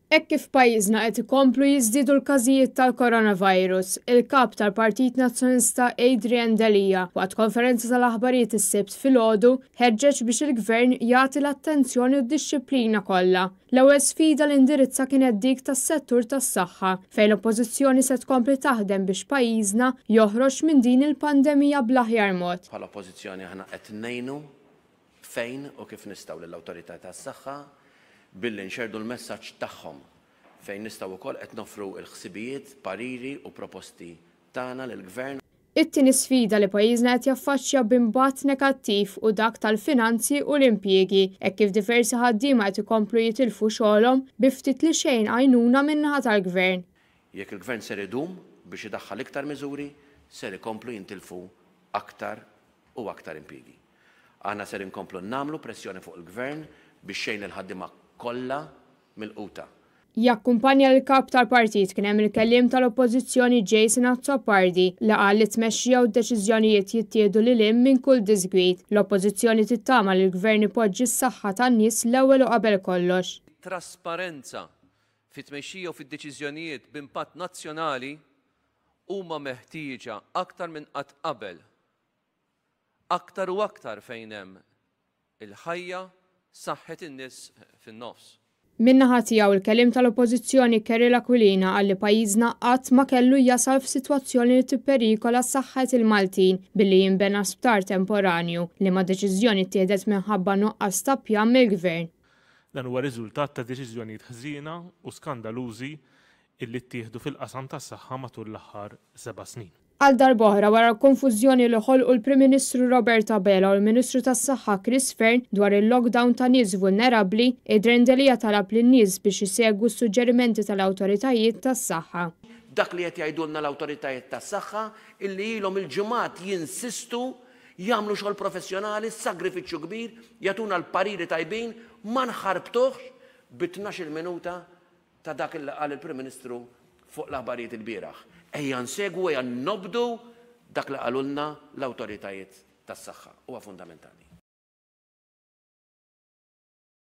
Hekk kif f'pajjiżna qed ikomplu jiżdiedu l-każijiet tal-coronavirus, il-Kap tal-Partit Nazzjonalista Adrian Delia waqt konferenza tal-aħbarijiet is-Sibt filgħodu ħeġġeġ biex il-Gvern jagħti l-attenzjoni u d-dixxiplina kollha. L-ewwel sfida li indirizza kienet dik tas-settur tas-saħħa, fejn l-Oppożizzjoni se tkompli taħdem biex pajjiżna joħroġ minn din il-pandemija bl-aħjar mod. Bħala Oppożizzjoni aħna qed ngħinu fejn u kif nistgħu lill-awtorità tas-saħħa billi nxerrdu l-messaġġ tagħhom fejn nistgħu wkoll qed noffru l-ħsibijiet, pariri u proposti tagħna lill-Gvern. It-tieni sfida li pajjiżna qed jaffaċċja b'impatt negattiv hu dak tal-finanzi u l-impjiegi, hekk kif diversi ħaddiema qed ikomplu jitilfu xogħolhom bi ftit li xejn għajnuna min-naħa tal-Gvern. Jekk il-Gvern ser idum biex idaħħal iktar miżuri, ser ikomplu jintilfu aktar u aktar impjiegi. Aħna ser inkomplu nagħmlu pressjoni fuq il-Gvern biex jgħin lill-ħaddiema kollha milquta. Jakkumpanja lill-Kap tal-Partit kien hemm il-Kelliem tal-Oppożizzjoni Jason Azzopardi li qal li t-tmexxija u d-deċiżjonijiet jittieħdu lil hinn minn kull diżgwid. L-Oppożizzjoni tittama li l-Gvern ipoġġi s-saħħa tan-nies l-ewwel u qabel kollox. It-trasparenza fit-tmexxija u fid-deċiżjonijiet b'impatt nazzjonali huma meħtieġa aktar minn qatt qabel Aktar u aktar fejn hemm il-ħajja, saħħet in-nies fin-nofs. Min-naħa tiegħu, il-Kelliem tal-Oppożizzjoni Kerry Aquilina qal li pajjiżna qatt ma kellu jasal f'sitwazzjoni li tipperikola saħħet il-Maltin billi jinbena sptar temporanju, liema deċiżjoni ttieħdet minħabba nuqqas ta' pjan mill-Gvern. Dan huwa riżultat ta' deċiżjonijiet ħżiena u skandalużi illi ttieħdu fil-qasam tas-saħħa matul l-aħħar seba' snin. Għal darb'oħra wara l-konfużjoni li ħolqu l-Prim Ministru Robert Abela u l-Ministru tas-Saħħa Chris Fearne dwar il-lockdown ta' nies vulnerabbli, Adrian Delia talab lin-nies biex isegwu s-suġġerimenti tal-awtoritajiet tas-saħħa. Dak li qed jgħidulna l-awtoritajiet tas-saħħa illi ilhom il-ġimgħat jinsistu jagħmlu xogħol professjonali, sagrifiċċju kbir, jagħtuna l-pariri tajbin, ma nħarbtuhx bi tnax-il minuta ta' dak li qal il-Prim Ministru fuq l-aħbarijiet ilbieraħ. Ejja nsegwu, ejja nobdu dak li qalulna l-awtoritajiet tas-saħħa. Huwa fundamentali.